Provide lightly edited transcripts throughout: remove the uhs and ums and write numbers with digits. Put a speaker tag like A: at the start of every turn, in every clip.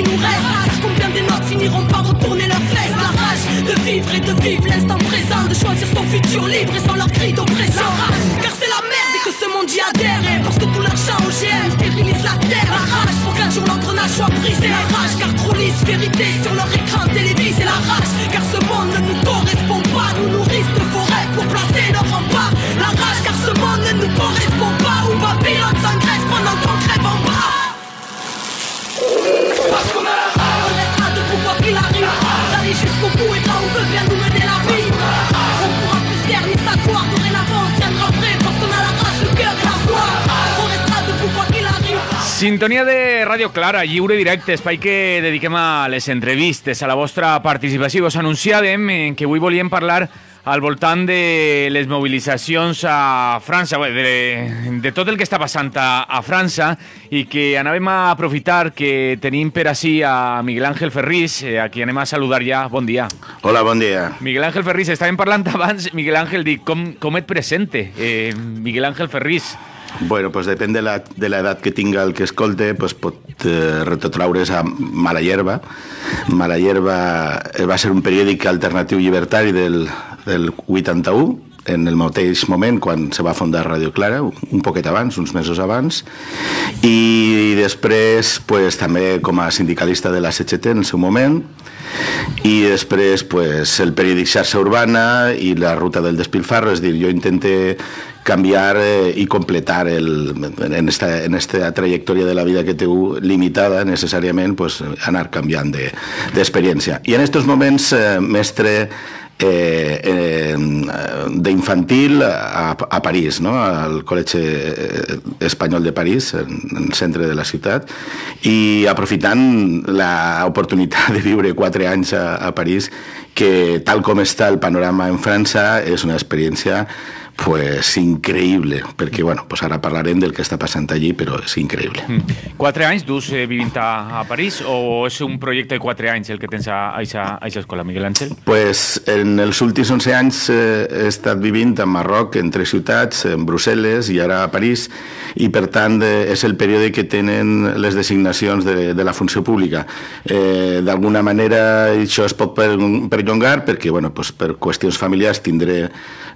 A: qui nous reste. Combien des notes finiront par retourner leurs fesses? La rage de vivre et de vivre l'instant présent, de choisir son futur libre et sans leur cri d'oppression. La rage, car c'est la merde et que ce monde y adhère. Parce que tout l'argent OGM stérilise la terre. La rage pour qu'un jour l'engrenage soit brisé. La rage car trop lisse vérité sur leur écran télévisé. La rage car ce monde ne nous correspond pas. Nous nourrissent de faux rêves pour placer leur rempart. La rage car ce monde ne nous correspond pas. Où Babylone s'engraisse pendant qu'on crève en bas. Parce qu'on a la rage, on restera debout quoi qu'il arrive. D'aller jusqu'au bout et là où veut bien nous mener la vie. On pourra plus taire ni s'asseoir. Dorénavant on tiendra vrai parce qu'on a la rage, le cœur et la foi. On restera debout quoi qu'il arrive.
B: Sintonia de Ràdio Clara, lliure directe, espai que dediquem a les entrevistes, a la vostra participació. Us anunciàvem que avui volíem parlar al voltant de les mobilitzacions a França, de tot el que està passant a França, i que anàvem a aprofitar que tenim per ací a Miguel Ángel Ferrís, a qui anem a saludar ja. Bon dia.
C: Hola, bon dia.
B: Miguel Ángel Ferrís, estàvem parlant abans, Miguel Ángel, dic, com et presente, Miguel Ángel Ferrís?
C: Bueno, pues depèn de l'edat que tinga el que escolte, pues pot retrotraure's a Mala Hierba. Mala Hierba va ser un periòdic alternatiu llibertari del 81, en el mateix moment quan se va fundar Ràdio Clara, un poquet abans, uns mesos abans, i després pues, també com a sindicalista de la CGT en el seu moment, i després pues, el periòdic Xarxa Urbana i la ruta del despilfarro, és dir, jo intenté canviar i completar en esta trajectòria de la vida que teniu limitada necessàriament, pues, anar canviant d'experiència. I en aquests moments, mestre d'infantil a París, no? Al Col·legi Espanyol de París, en el centre de la ciutat, i aprofitant l'oportunitat de viure 4 anys a París, que tal com està el panorama en França és una experiència pues increïble, perquè bueno, pues ara parlarem del que està passant allí, però és increïble.
B: 4 anys dus vivint a París o és un projecte de 4 anys el que tens a aquesta escola, Miguel Ángel?
C: Pues en els últims 11 anys he estat vivint a Marroc, en 3 ciutats, en Brussel·les i ara a París, i per tant és el període que tenen les designacions de la funció pública. D'alguna manera això es pot perllongar perquè bueno, pues, per qüestions familiars tindré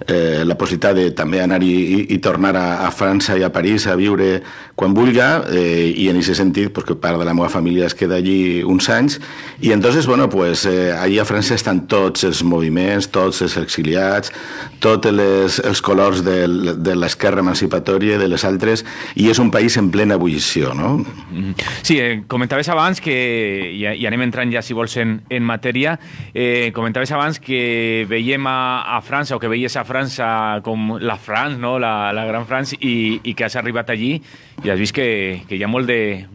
C: la possibilitat de també anar i tornar a França i a París a viure quan vulga, i en aquest sentit pues, que part de la meva família es queda allí uns anys, i entonces bueno, pues, allí a França estan tots els moviments, tots els exiliats, tots els colors de l'esquerra emancipatòria, de les altres, i és un país en plena ebullició, no?
B: Sí, comentaves abans que, i anem entrant ja si vols en matèria, comentaves abans que veiem a França, o que veies a França com la France, no? la gran France, i que has arribat allí i has vist que hi ha molt de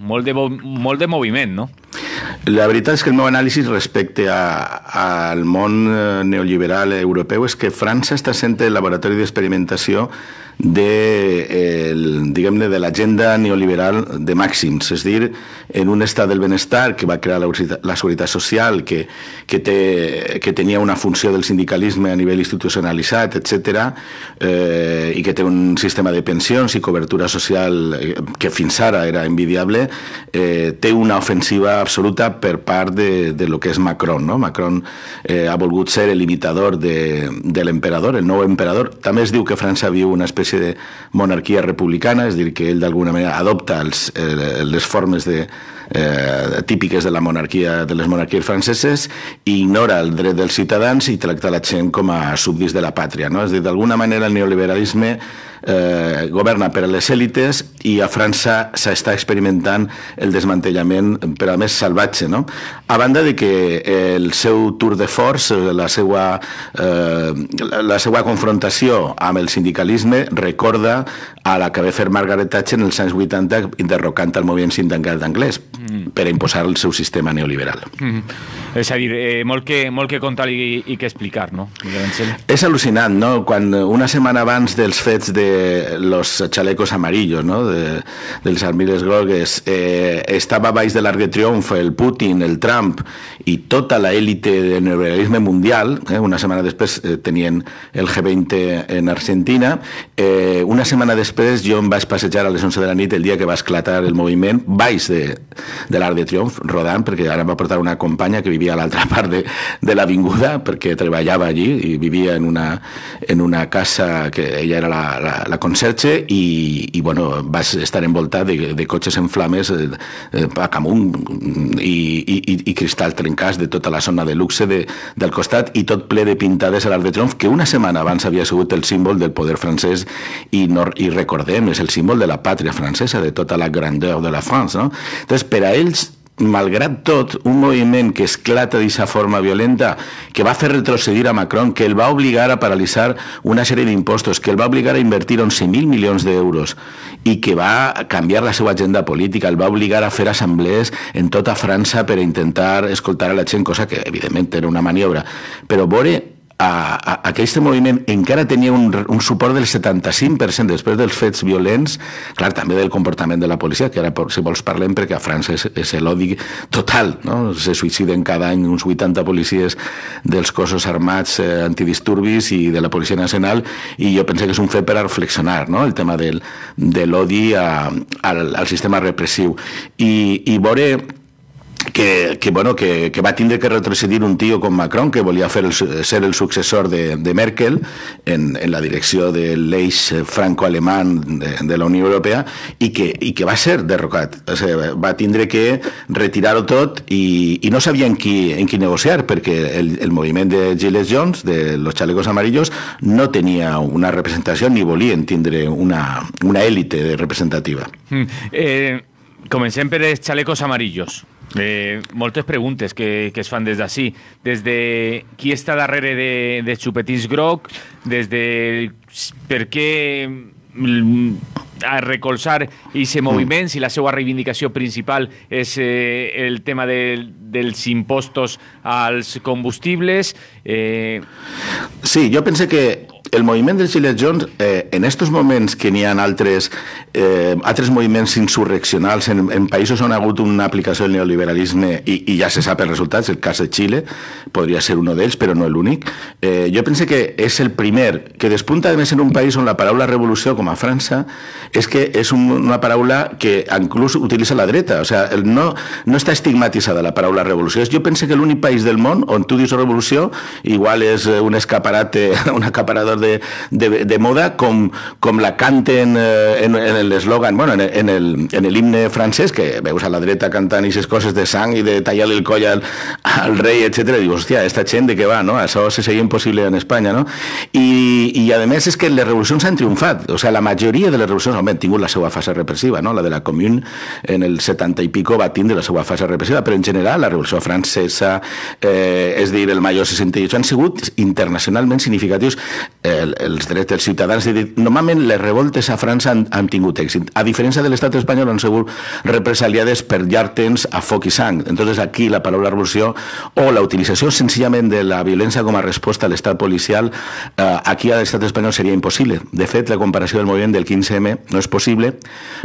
B: moviment, no?
C: La veritat és que el meu anàlisi respecte al món neoliberal europeu és que França està sent el laboratori d'experimentació diguem-ne, de l'agenda neoliberal de màxims, és dir, en un estat del benestar que va crear la Seguretat Social, que tenia una funció del sindicalisme a nivell institucionalitzat, etc., i que té un sistema de pensions i cobertura social que fins ara era envidiable, té una ofensiva absoluta per part de lo que és Macron, no? Macron ha volgut ser el imitador de l'emperador, el nou emperador. També es diu que França viu una espècie de monarquia republicana, és a dir, que ell d'alguna manera adopta les formes típiques de les monarquies franceses i ignora el dret dels ciutadans i tracta la gent com a súbdits de la pàtria, no? És a dir, d'alguna manera el neoliberalisme governa per a les èlites i a França s'està experimentant el desmantellament, però a més salvatge, no? A banda de que el seu tour de force, la seva confrontació amb el sindicalisme recorda a la que va fer Margaret Thatcher en els anys 80 derrocant el moviment sindical anglès per imposar el seu sistema neoliberal.
B: És a dir, molt que contar i que explicar, no?
C: És al·lucinant, no? Quan una setmana abans dels fets de los chalecos amarillos, no? Dels armilles grogues, estava baix de l'Arc de Triomf el Putin, el Trump i tota la élite del neoliberalisme mundial, una setmana després tenien el G20 en Argentina, una setmana després jo em vaig passejar a les 11 de la nit el dia que va esclatar el moviment baix de l'Arc de Triomf, rodant, perquè ara em va portar una companya que vivia a l'altra part de l'avinguda, perquè treballava allí i vivia en una casa que ella era la conserge i bueno, vaig estar envoltat de cotxes en flames a camunt i cristalls trencats de tota la zona de luxe del costat i tot ple de pintades a l'Arc de Triomf, que una setmana abans havia sigut el símbol del poder francès i recordem, és el símbol de la pàtria francesa, de tota la grandeur de la France, no? Entonces, per a ells, malgrat tot, un moviment que esclata d'aquesta forma violenta, que va fer retrocedir a Macron, que el va obligar a paralitzar una sèrie d'impostos, que el va obligar a invertir 11.000 milions d'euros i que va canviar la seva agenda política, el va obligar a fer assemblees en tota França per intentar escoltar a la gent, cosa que evidentment era una maniobra, però veure aquest moviment encara tenia un suport del 75% després dels fets violents, clar, també del comportament de la policia, que ara, si vols, parlem, perquè a França és l'odi total, no? Se suïciden cada any uns 80 policies dels cossos armats antidisturbis i de la Policia Nacional, i jo penso que és un fet per a reflexionar, no? El tema de l'odi al sistema repressiu. I veure que va tindre que retrocedir un tio com Macron, que volia ser el successor de Merkel en la direcció de l'eix franco-alemany de la Unió Europea i que va ser derrocat. O sigui, va tindre que retirar-ho tot i no sabia en qui negociar, perquè el moviment de Gilets Jaunes, de los chalecos amarillos, no tenia una representació ni volien tindre una élite representativa.
B: Comencem per els chalecos amarillos. Moltes preguntes que es fan des d'ací, des de qui està darrere de xupetins groc, des de per què recolzar aquest moviment, si la seva reivindicació principal és el tema dels impostos als combustibles.
C: Sí, jo penso que el moviment dels Gilets Jaunes, en estos moments que n'hi ha altres moviments insurreccionals en països on ha hagut una aplicació del neoliberalisme i ja se sap els resultats, el cas de Xile podria ser un d'ells, però no l'únic. Jo penso que és el primer que despunta, a més, en un país on la paraula revolució, com a França, és que és una paraula que inclús utilitza la dreta. O sigui, no està estigmatitzada la paraula revolució. Jo penso que l'únic país del món on tu dius revolució igual és un escaparate, un acaparador de moda, com la canten en l'eslògan, bueno, en l'himne francès, que veus a la dreta cantant aquestes coses de sang i de tallar-li el coll al rei, etc. I dius, hòstia, esta gent de què va, no? Això seria impossible en Espanya, no? I a més és que les revolucions han triomfat. O sigui, la majoria de les revolucions han tingut la seva fase repressiva, no? La de la Commune en el 70 i pico va tindre la seva fase repressiva, però en general la revolució francesa, és dir, el Mayo 68, han sigut internacionalment significatius. Els drets dels ciutadans. Normalment les revoltes a França han tingut èxit. A diferència de l'estat espanyol, han sigut represaliades per llarg temps a foc i sang. Entonces aquí la paraula revolució o la utilització senzillament de la violència com a resposta a l'estat policial, aquí a l'estat espanyol seria impossible. De fet, la comparació del moviment del 15M no és possible,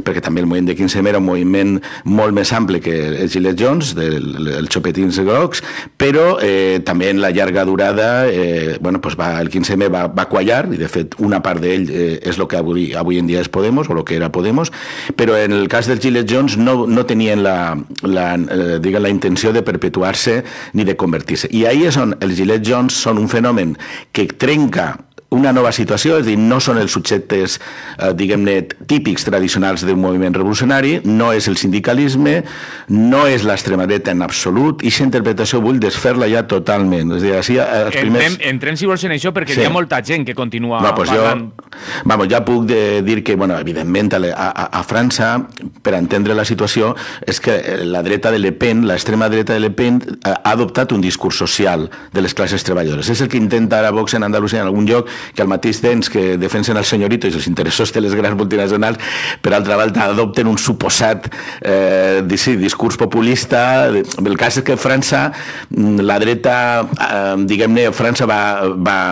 C: perquè també el moviment del 15M era un moviment molt més ample que els Gilets Jaunes, els xopetins grocs, però també en la llarga durada, el 15M va quallar, i de fet una part d'ell és el que avui en dia és Podemos, o el que era Podemos, però en el cas dels Gilets Jaunes no tenien la intenció de perpetuar-se ni de convertir-se. I ahí és on els Gilets Jaunes són un fenomen que trenca una nova situació, és a dir, no són els subjectes, diguem-ne, típics tradicionals d'un moviment revolucionari, no és el sindicalisme, no és l'extrema dreta en absolut, i aquesta interpretació vull desfer-la ja totalment. És a dir, així, els primers...
B: Entrem, si vols, en això, perquè hi ha molta gent que continua parlant.
C: Ja puc dir que, evidentment, a França, per entendre la situació, és que la dreta de Le Pen, l'extrema dreta de Le Pen, ha adoptat un discurs social de les classes treballadores. És el que intenta ara Vox en Andalusia, en algun lloc, que al mateix temps que defensen els senyoritos i els interessos de les grans multinacionals, per altra banda adopten un suposat discurs populista. El cas és que França, la dreta, diguem-ne, França va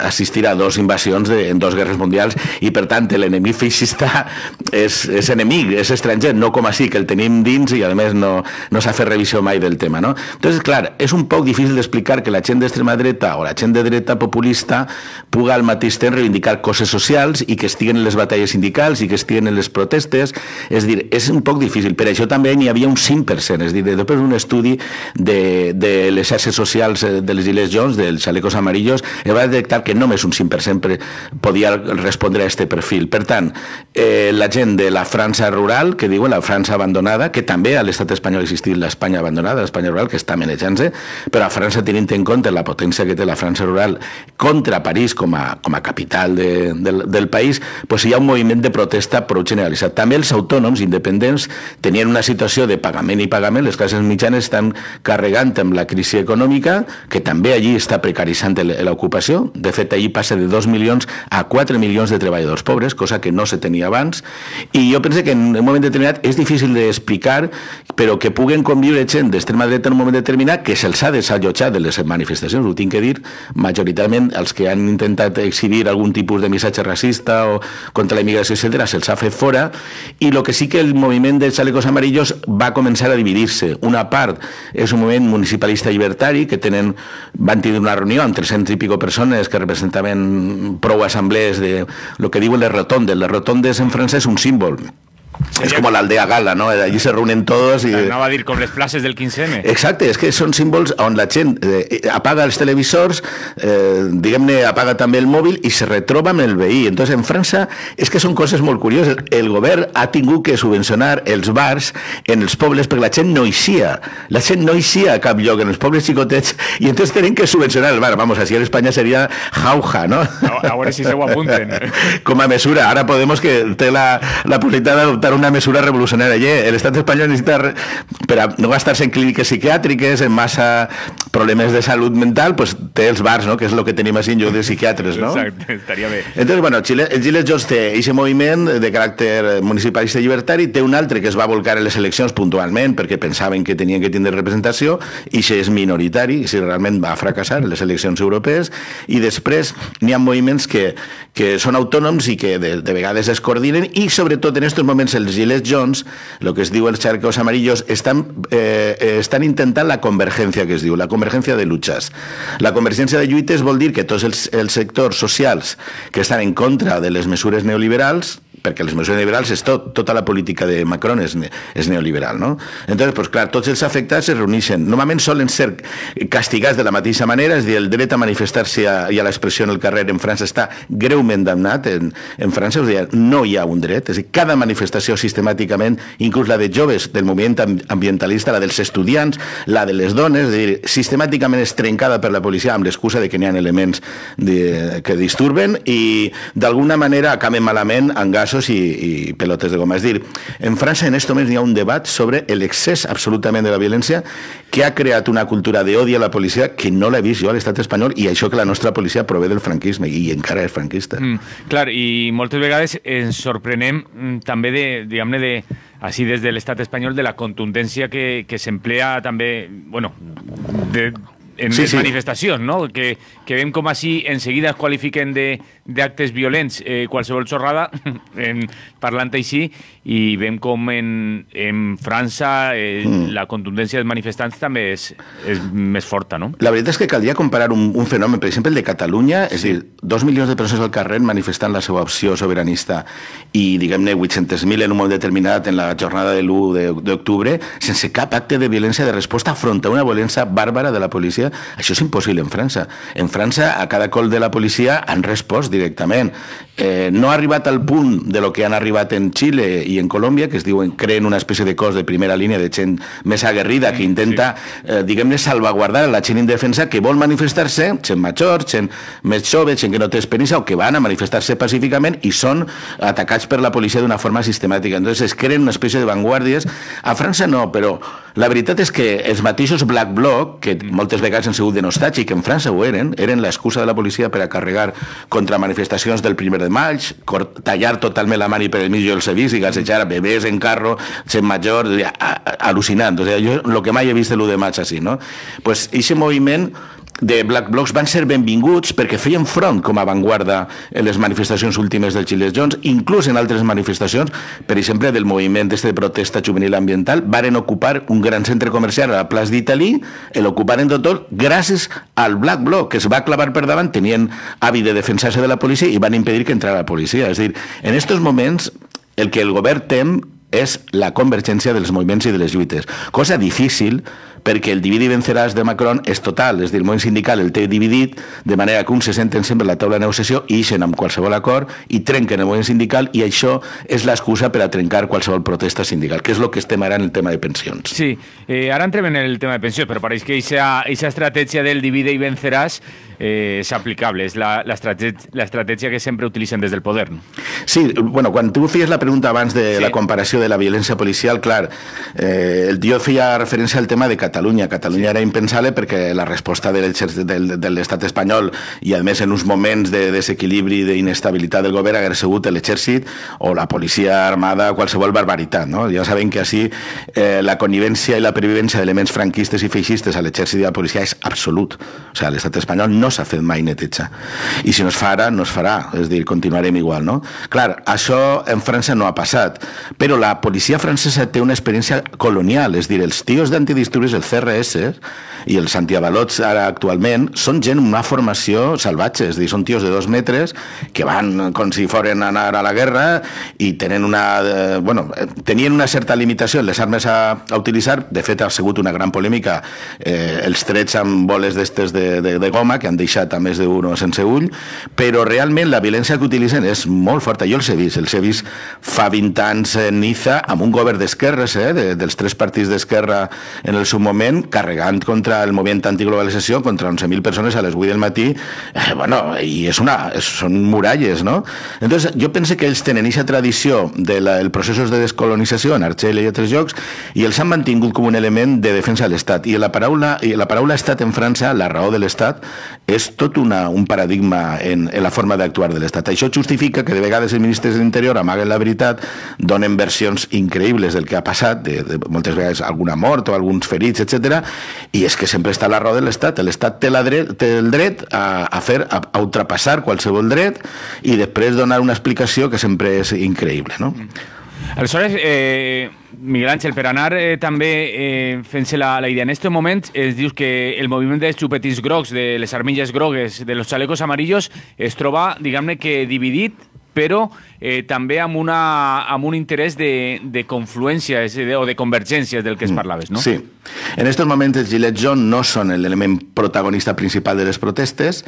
C: assistir a 2 invasions en 2 guerres mundials i, per tant, l'enemic feixista és enemic, és estranger, no com així, que el tenim dins i, a més, no s'ha fet revisió mai del tema, no? Entonces, clar, és un poc difícil d'explicar que la gent d'extrema dreta o la gent de dreta populista puga al mateix temps reivindicar coses socials i que estiguen en les batalles sindicals i que estiguen en les protestes. És dir, és un poc difícil. Per això també n'hi havia un 5%, és dir, després d'un estudi de les xarxes socials dels Gilets Jaunes, dels chalecos amarillos, es va detectar que només un 5% podia respondre a aquest perfil. Per tant, la gent de la França rural, que diuen la França abandonada, que també a l'estat espanyol ha existit l'Espanya abandonada, l'Espanya rural, que està manejant-se, però a França, tenint en compte la potència que té la França rural contra París com a capital del país, doncs hi ha un moviment de protesta prou generalitzat. També els autònoms independents tenien una situació de pagament i pagament, les classes mitjanes estan carregant amb la crisi econòmica, que també allí està precaritzant l'ocupació. De fet, allí passa de 2 milions a 4 milions de treballadors pobres, cosa que no se tenia abans, i jo penso que en un moment determinat és difícil d'explicar, però que puguen conviure gent d'extrema dreta en un moment determinat que se'ls ha desallotjat de les manifestacions, ho tinc que dir, majoritàriament els que han intentat exhibir algun tipus de missatge racista o contra la immigració, etc., se'ls ha fet fora, i el que sí que el moviment dels chalecos amarillos va començar a dividir-se. Una part és un moviment municipalista llibertari, que van tenir una reunió amb 300 i pico persones que representaven prou assemblees de lo que diuen les rotondes. Les rotondes en francès és un símbol. Es como la aldea gala, ¿no? Allí se reúnen todos y...
B: No va a dir com les places del 15M.
C: Exacte, és que són símbols on la gent apaga els televisors, diguem-ne, apaga també el mòbil i se retroba amb el veí. Entonces, en França és que són coses molt curioses. El govern ha tingut que subvencionar els bars en els pobles perquè la gent no eixia. La gent no eixia a cap lloc, en els pobles xicotets, i entonces tenen que subvencionar el bar. Vamos, així en Espanya seria jauja, ¿no?
B: A veure si se ho apunten.
C: Com a mesura. Ara Podemos, que té la possibilitat d'adoptar una mesura revolucionària. L'estat espanyol necessita, per a no gastar-se en clíniques psiquiàtriques, en massa problemes de salut mental, pues té els bars, ¿no? Que és el que tenim així en lloc de psiquiatres, ¿no?
B: Exacte, estaria bé.
C: Entonces, bueno, el Gilets Jaunes té aquest moviment de caràcter municipalista llibertari, té un altre que es va volcar en les eleccions puntualment perquè pensaven que tenien que tindre representació, i això és minoritari, i realment va fracassar en les eleccions europees, i després n'hi ha moviments que són autònoms i que de vegades es coordinen, i sobretot en aquests moments els Gilets Jaunes, el que es diu els chalecos amarillos, estan intentant la convergència, que es diu, la convergència de luchas. La convergència de lluites vol dir que tots els sectors socials que estan en contra de les mesures neoliberals, perquè les mesures neoliberals és tota la política de Macron és neoliberal, no? Entonces, pues clar, tots els afectats es reuneixen. Normalment solen ser castigats de la mateixa manera, és a dir, el dret a manifestar-se i a l'expressió en el carrer en França està greument damnat en França, és a dir, no hi ha un dret, és a dir, cada manifestació sistemàticament, inclús la de joves del moviment ambientalista, la dels estudiants, la de les dones, és a dir, sistemàticament és trencada per la policia amb l'excusa de que n'hi ha elements que disturben i d'alguna manera acaben malament amb gasos i pelotes de goma. És dir, en França en aquest moment hi ha un debat sobre l'excés absolutament de la violència que ha creat una cultura d'odi a la policia que no l'he vist jo a l'estat espanyol, i això que la nostra policia prové del franquisme i encara és franquista.
B: Clar, i moltes vegades ens sorprenem també diguem-ne, així des de l'estat espanyol, de la contundència que s'emplea també, bueno, en les manifestacions, no? Que veiem com així enseguida es qualifiquen d'actes violents qualsevol xorrada, parlant així, i veiem com en França la contundència dels manifestants també és més forta, no?
C: La veritat és que caldria comparar un fenomen, per exemple, el de Catalunya, és a dir, 2 milions de persones al carrer manifestant la seva opció sobiranista i, diguem-ne, 800.000 en un moment determinat en la jornada de l'1 d'octubre, sense cap acte de violència de resposta front a una violència bàrbara de la policia. Això és impossible en França. En França, a cada col de la policia han respost directament. no ha arribat al punt de lo que han arribat en Xile i en Colòmbia, que es diuen, creen una espècie de cos de primera línia de gent més aguerrida que intenta, diguem-ne, salvaguardar la gent indefensa que vol manifestar-se, gent major, gent més jove, gent que no té experiència o que van a manifestar-se pacíficament i són atacats per la policia d'una forma sistemàtica. Entonces es creen una espècie de vanguardies. A França no, però la veritat és que els mateixos Black Bloc, que moltes vegades han sigut denostats i que en França ho eren l'excusa de la policia per a carregar contra manifestacions del 1 de maig, tallar totalment la mani per el mig, jo els he vist, i gassejar a bebès en carro, gent major, al·lucinant. O sigui, jo el que mai he vist l'1 de maig així, no? Pues aquest moviment de Black Blocs van ser benvinguts perquè feien front com a avantguarda en les manifestacions últimes dels Gilets Jaunes, inclús en altres manifestacions, per exemple, del moviment de protesta juvenil ambiental, varen ocupar un gran centre comercial a la plaça d'Italí, l'ocuparen tot gràcies al Black Bloc, que es va clavar per davant, tenien hàbit de defensar-se de la policia i van impedir que entrara la policia. És a dir, en aquests moments, el que el govern tem és la convergència dels moviments i de les lluites, cosa difícil perquè el dividi venceràs de Macron és total, és a dir, el moviment sindical el té dividit, de manera que uns se senten sempre a la taula de negociació i ixen amb qualsevol acord i trenquen el moviment sindical, i això és l'excusa per a trencar qualsevol protesta sindical, que és el que estem ara en el tema de pensions.
B: Sí, ara entrem en el tema de pensions, però pareix que aquesta estratègia del divide i venceràs és aplicable, és l'estratègia que sempre utilitzen des del poder. No?
C: Sí, bueno, quan tu feies la pregunta abans de la comparació de la violència policial, clar, jo feia referència al tema de Catalunya. Catalunya era impensable perquè la resposta de l'estat espanyol i, a més, en uns moments de desequilibri i d'inestabilitat del govern hagués sigut l'exèrcit o la policia armada, qualsevol barbaritat. No? Ja sabem que així la connivència i la pervivència d'elements franquistes i feixistes a l'exèrcit i a la policia és absolut. O sigui, l'estat espanyol no s'ha fet mai neteja. I si no es fa ara, no es farà. És a dir, continuarem igual, no? Clar, això en França no ha passat, però la policia francesa té una experiència colonial, és a dir, els tios d'antidisturbis, el CRS i els antiavalots ara actualment, són gent amb una formació salvatge, és a dir, són tios de 2 metres que van com si foren a anar a la guerra i tenen tenien una certa limitació en les armes a utilitzar. De fet, ha sigut una gran polèmica els trets amb boles d'estes de goma que han deixat a més d'un sense ull, però realment la violència que utilitzen és molt forta. Jo els he vist fa 20 anys en Niza amb un govern d'esquerres, dels 3 partits d'esquerra en el seu moment, carregant contra el moviment antiglobalització, contra 11.000 persones a les 8 del matí, i són muralles, no? Entonces, jo penso que ells tenen aquesta tradició dels processos de descolonització en Argèlia i altres llocs, i els han mantingut com un element de defensa de l'Estat. I la paraula estat en França, la raó de l'Estat, és tot un paradigma en la forma d'actuar de l'Estat. Això justifica que de vegades els ministres de l'Interior amaguen la veritat, donen versions increïbles del que ha passat, de moltes vegades alguna mort o alguns ferits, etc. I és que sempre està la raó de l'Estat. L'Estat té el dret a ultrapassar qualsevol dret i després donar una explicació que sempre és increïble, no?
B: Aleshores, Miguel Ángel, per anar també fent-se la idea, en aquest moment es diu que el moviment dels xupetins grocs, de les armilles grogues, de los chalecos amarillos, es troba, diguem-ne, que dividit, però també amb un interès de confluència o de convergències del que es parlaves, no?
C: Sí. En aquests moments els Gilets Jaunes no són l'element protagonista principal de les protestes.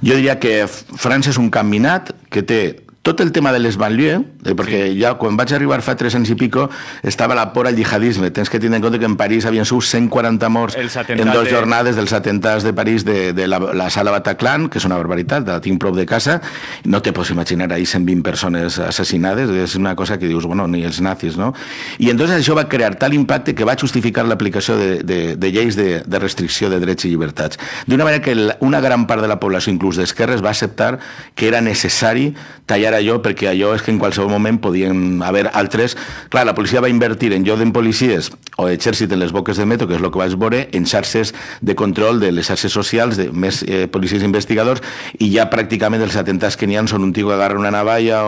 C: Jo diria que França és un camp minat que té tot el tema de les banlieues, perquè ja quan vaig arribar fa 3 anys i pico estava la por al jihadisme. Tens que tenir en compte que en París havien sigut 140 morts en 2 jornades dels atentats de París de la sala Bataclan, que és una barbaritat, la tinc prop de casa. No te pots imaginar ahí 120 persones assassinades, és una cosa que dius, bueno, ni els nazis, no? I entonces això va crear tal impacte que va justificar l'aplicació de lleis de restricció de drets i llibertats. D'una manera que una gran part de la població, inclús d'esquerres, va acceptar que era necessari tallar allò, perquè allò és que en qualsevol moment podien haver altres. Clar, la policia va invertir en lloc de policies o exèrcit en les boques de metro, que és el que vaig veure, en xarxes de control de les xarxes socials, de més policies investigadors, i ja pràcticament els atentats que n'hi ha són un tio que agarra una navalla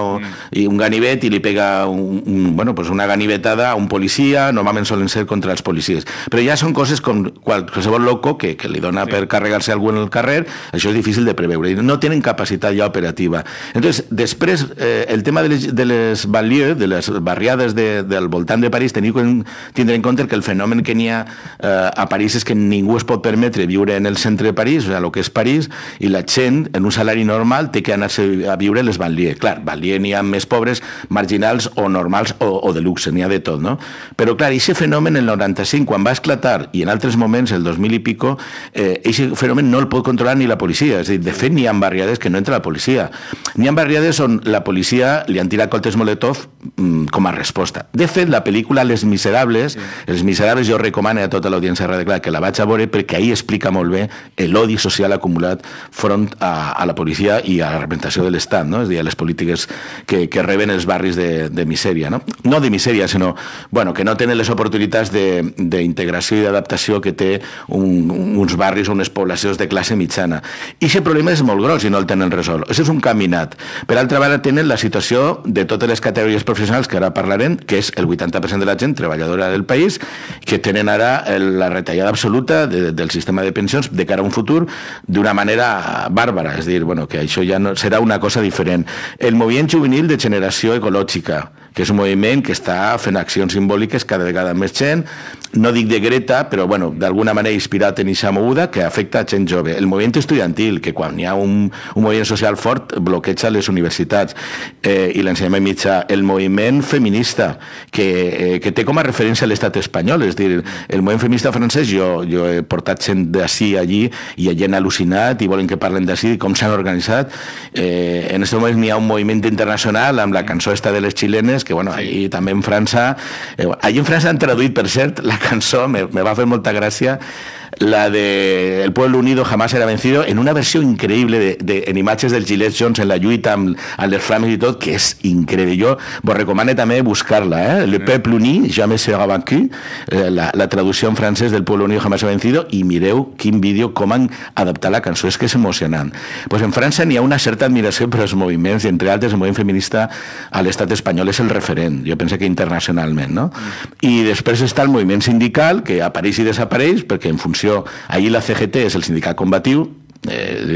C: i un ganivet i li pega una ganivetada a un policia, normalment solen ser contra els policies. Però ja són coses com qualsevol loco que li dona per carregar-se algú en el carrer, això és difícil de preveure, i no tenen capacitat ja operativa. Entonces, després després, el tema de les banlieues, de les barriades del voltant de París, tindre en compte que el fenomen que n'hi ha a París és que ningú es pot permetre viure en el centre de París, o sigui, el que és París, i la gent, en un salari normal, té que anar-se a viure a les banlieues. Clar, banlieues n'hi ha més pobres, marginals o normals o de luxe, n'hi ha de tot, no? Però, clar, aquest fenomen, el 95, quan va esclatar, i en altres moments, el 2000 i pico, aquest fenomen no el pot controlar ni la policia. És a dir, de fet, n'hi ha barriades que no entra la policia. N'hi ha barriades on la policia li han tirat cotes Molotov com a resposta. De fet, la pel·lícula Les Miserables, Els Miserables jo recomano a tota l'audiència de Radio Clara que la vaig a veure perquè ahí explica molt bé l'odi social acumulat front a la policia i a la representació de l'Estat, no? És a dir, a les polítiques que reben els barris de misèria, no? No de misèria, sinó bueno, que no tenen les oportunitats d'integració i d'adaptació que té uns barris o unes poblacions de classe mitjana. I aquest problema és molt gros i no el tenen resolt. Això és un caminat. Per altra banda, tenen la situació de totes les categories professionals que ara parlarem, que és el 80% de la gent treballadora del país, que tenen ara la retallada absoluta del sistema de pensions de cara a un futur d'una manera bàrbara. És a dir, bueno, que això ja no, serà una cosa diferent. El moviment juvenil de generació ecològica, que és un moviment que està fent accions simbòliques cada vegada més gent, no dic de Greta, però bueno, d'alguna manera inspirat en aquesta moguda que afecta a gent jove. El moviment estudiantil, que quan hi ha un moviment social fort bloqueja les universitats i l'ensenyament mitjà. El moviment feminista, que té com a referència l'estat espanyol, és a dir, el moviment feminista francès, jo he portat gent d'ací allí i hi ha gent al·lucinat i volen que parlen d'ací, com s'han organitzat. En aquest moment hi ha un moviment internacional amb la cançó esta de les xilenes, que bueno, allí també en França, allí en França han traduït, per cert, la cançó, me va fer molta gràcia, la de El pueblo unido jamás será vencido, en una versió increïble en imatges del Gillette Jones en la lluita amb les flames i tot, que és increïble. Jo vos recomano també buscar-la, Le peuple uni jamais sera vaincu, la traducció en francès del pueblo unido jamás será vencido, i mireu quin vídeo, com han adaptat la cançó, és que és emocionant. Pues en França n'hi ha una certa admiració per als moviments, i entre altres el moviment feminista a l'estat espanyol és el referent, jo penso que internacionalment, no? I després està el moviment sindical, que apareix i desapareix, perquè en funció ahir la CGT és el sindicat combatiu,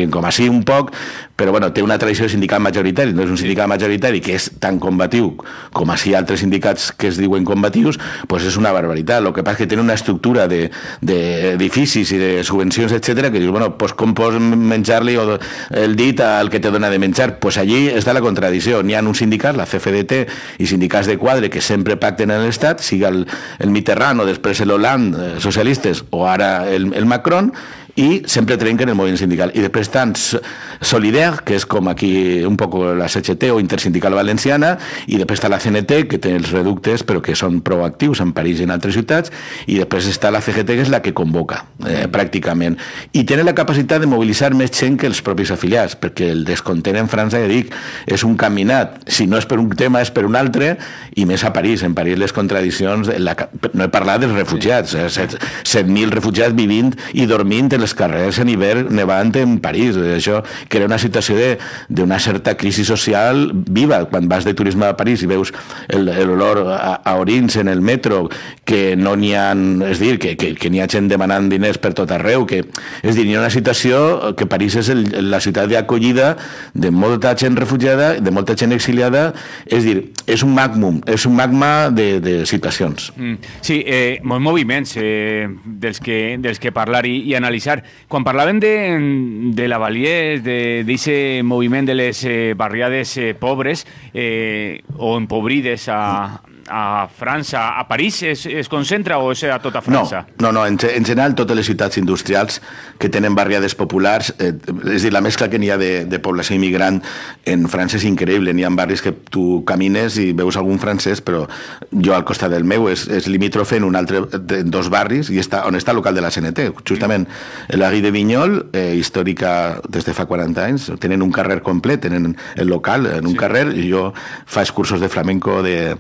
C: com així un poc, però bueno, té una tradició de sindicat majoritari, no és un sindicat majoritari que és tan combatiu com així altres sindicats que es diuen combatius, doncs és una barbaritat. El que passa és que tenen una estructura d'edificis i de subvencions, etc., que dius, bueno, doncs com pots menjar-li el dit al que te dona de menjar? Doncs allí està la contradicció. N'hi ha un sindicat, la CFDT, i sindicats de quadre que sempre pacten en l'Estat, siga el Mitterrand o després l'Hollande, socialistes, o ara el Macron, i sempre trenquen el moviment sindical. I després estan Solidaire, que és com aquí un poc la CGT o Intersindical Valenciana, i després està la CNT, que té els reductes però que són proactius en París i en altres ciutats, i després està la CGT, que és la que convoca pràcticament, i tenen la capacitat de mobilitzar més gent que els propis afiliats, perquè el descontent en França, ja dic, és un caminat, si no és per un tema és per un altre, i més a París. En París les contradiccions, no he parlat dels refugiats, 7.000 refugiats vivint i dormint en els carrers en hivern nevant en París. Això crea una situació d'una certa crisi social viva. Quan vas de turisme a París i veus l'olor a orins en el metro, que no n'hi ha, és dir, que n'hi ha gent demanant diners per tot arreu, és dir, hi ha una situació que París és la ciutat d'acollida de molta gent refugiada, de molta gent exiliada, és dir, és un magma de situacions.
B: Sí, molts moviments dels que parlar i analitzar. Quan parlàvem de la Valier, d'aquest moviment de les barriades pobres o empobrides a França, a París es concentra o és a tota França?
C: No, en general totes les ciutats industrials que tenen barriades populars, és dir, la mescla que n'hi ha de població immigrant en França és increïble. N'hi ha barris que tu camines i veus algun francès, però jo al costat del meu és limítrofe en un altre, en dos barris, i on està el local de la CNT, justament la Guy de Vinyol, històrica des de fa 40 anys, tenen un carrer complet, tenen el local en un carrer, i jo faig cursos de flamenco de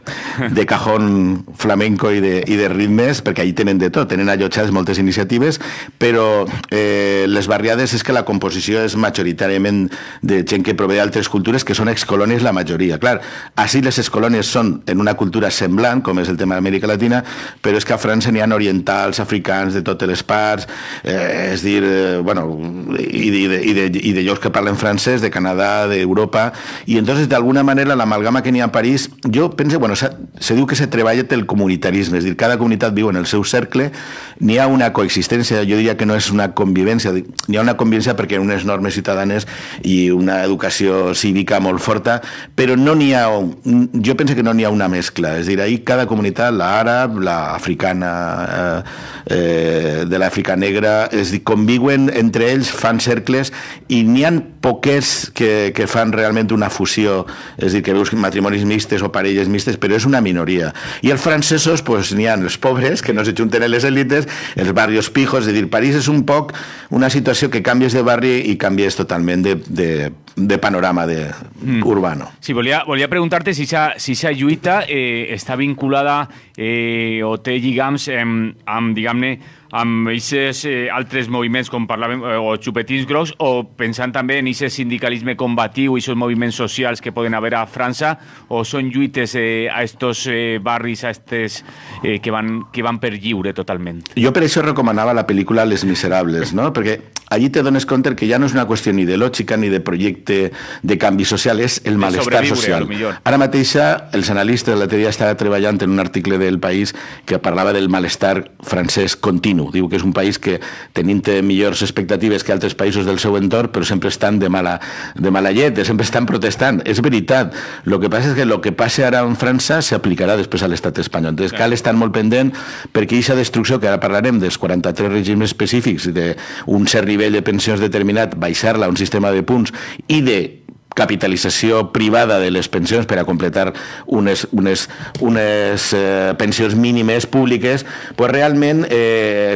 C: de cajón flamenco i de ritmes, perquè allí tenen de tot, tenen allotjades moltes iniciatives, però les barriades és que la composició és majoritàriament de gent que prové d'altres cultures, que són excolònies la majoria. Clar, així les excolònies són en una cultura semblant, com és el tema d'Amèrica Latina, però és que a França n'hi ha orientals, africans, de totes les parts, és dir, bueno, i de llocs que parlen francès, de Canadà, d'Europa, i entonces d'alguna manera l'amalgama que n'hi ha a París, jo penso, bueno, se diu que se treballa el comunitarisme, és dir, cada comunitat viu en el seu cercle, n'hi ha una coexistència, jo diria que no és una convivència, n'hi ha una convivència perquè hi ha unes normes ciutadanes i una educació cívica molt forta, però no n'hi ha, jo penso que no n'hi ha una mescla, és dir, ahir cada comunitat, l'àrab, l'africana, de l'Àfrica negra, és dir, conviuen entre ells, fan cercles, i n'hi ha poquets que fan realment una fusió, és dir, que veus matrimonis mixtes o parelles mixtes, però és una minoria. I els francesos, pues, n'hi ha els pobres, que no se junten en les élites, els barrios pijos, és dir, París és un poc una situació que canvies de barri i canvies totalment de panorama urbano.
B: Sí, volia preguntar-te si aquesta lluita està vinculada o té lligams amb, diguem-ne, amb aquests altres moviments, com parlàvem, o xupetins grocs, o pensant també en aquest sindicalisme combatiu i aquests moviments socials que poden haver a França, o són lluites a estos barris, a estes que van per lliure totalment?
C: Jo per això recomanava la pel·lícula Les Miserables, no? Perquè allí te dones compte que ja no és una qüestió ni ideològica ni de projecte de canvi social, és el malestar social. Ara mateixa els analistes l'altre dia estaven treballant en un article del País que parlava del malestar francès continu. Diu que és un país que tenint millors expectatives que altres països del seu entorn, però sempre estan de mala llet, sempre estan protestant. És veritat. El que passa és que el que passa ara en França s'aplicarà després a l'estat espanyol. Entonces cal estar molt pendent perquè aquesta destrucció, que ara parlarem dels 43 regimes específics, d'un cert nivell de pensions determinat, baixar-la a un sistema de punts i de capitalització privada de les pensions per a completar unes pensions mínimes públiques, pues realment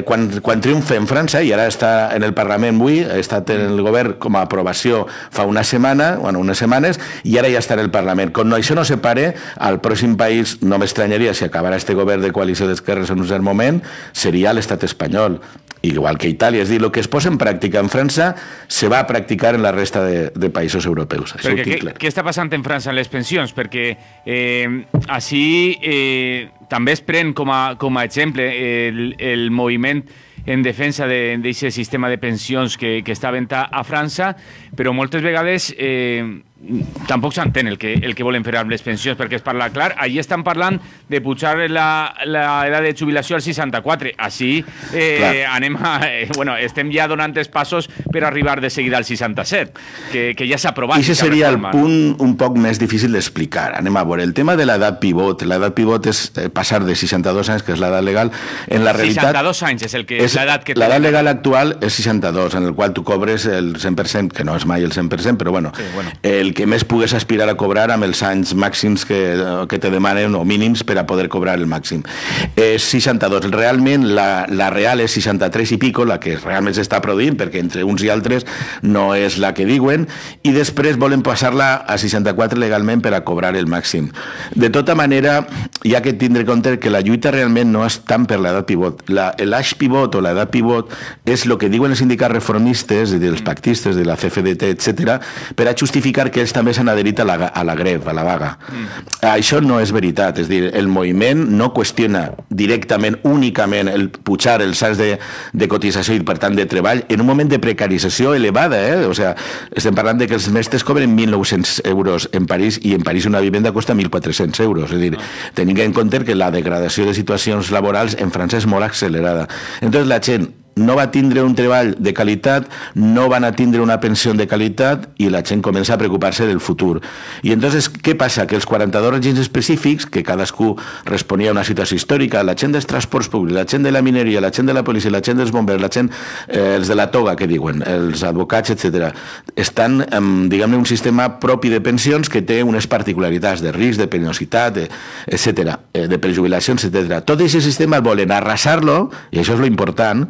C: quan triomfa en França, i ara està en el Parlament avui, ha estat en el govern com a aprovació fa unes setmanes, i ara ja està en el Parlament. Quan això no se pare, al pròxim país, no m'estranyaria si acabarà este govern de coalició d'esquerres en un cert moment, seria l'estat espanyol, igual que Itàlia. És dir, el que es posa en pràctica en França se va a practicar en la resta de països europeus.
B: Què està passant en França en les pensions? Perquè així també es pren com a exemple el moviment en defensa d'aquest sistema de pensions que està havent a França, però moltes vegades tampoc s'entén el que volen fer amb les pensions, perquè es parla clar. Allí estan parlant de pujar l'edat de jubilació al 64. Així estem ja donant els passos per arribar de seguida al 67, que ja s'ha aprovat.
C: I aquest seria el punt un poc més difícil d'explicar. Anem a veure. El tema de l'edat pivot. L'edat pivot és passar de 62 anys, que és l'edat legal. En la realitat,
B: 62 anys és l'edat que té.
C: L'edat legal actual és 62, en el qual tu cobres el 100%, que no és mai el 100%, però bueno, el que més pugues aspirar a cobrar amb els anys màxims que te demanen, o mínims, per a poder cobrar el màxim. És 62. Realment, la real és 63 i pico, la que realment s'està produint, perquè entre uns i altres no és la que diuen, i després volen passar-la a 64 legalment per a cobrar el màxim. De tota manera, hi ha que tindre en compte que la lluita realment no és tant per l'edat pivot. L'age pivot o l'edat pivot és el que diuen els sindicats reformistes, els pactistes de la CFDT, etc., per a justificar que ells també s'han adherit a la greva, a la vaga. Això no és veritat, és dir, el moviment no qüestiona directament, únicament, el pujar els anys de cotització i, per tant, de treball en un moment de precarització elevada, O sigui, estem parlant de que els mestres cobren 1.900 euros en París, i en París una vivenda costa 1.400 euros, és dir, tenint en compte que la degradació de situacions laborals en França és molt accelerada. Entonces la gent no va tindre un treball de qualitat, no van a tindre una pensió de qualitat, i la gent comença a preocupar-se del futur. I entonces, què passa? Que els 42 règims específics, que cadascú responia a una situació històrica, la gent dels transports públics, la gent de la mineria, la gent de la policia, la gent dels bombers, la gent, els de la toga, que diuen, els advocats, etc., estan, diguem-ne, un sistema propi de pensions que té unes particularitats de risc, de peniositat, etc., de prejubilacions, etc. Tot aquest sistema volen arrasar-lo, i això és lo important,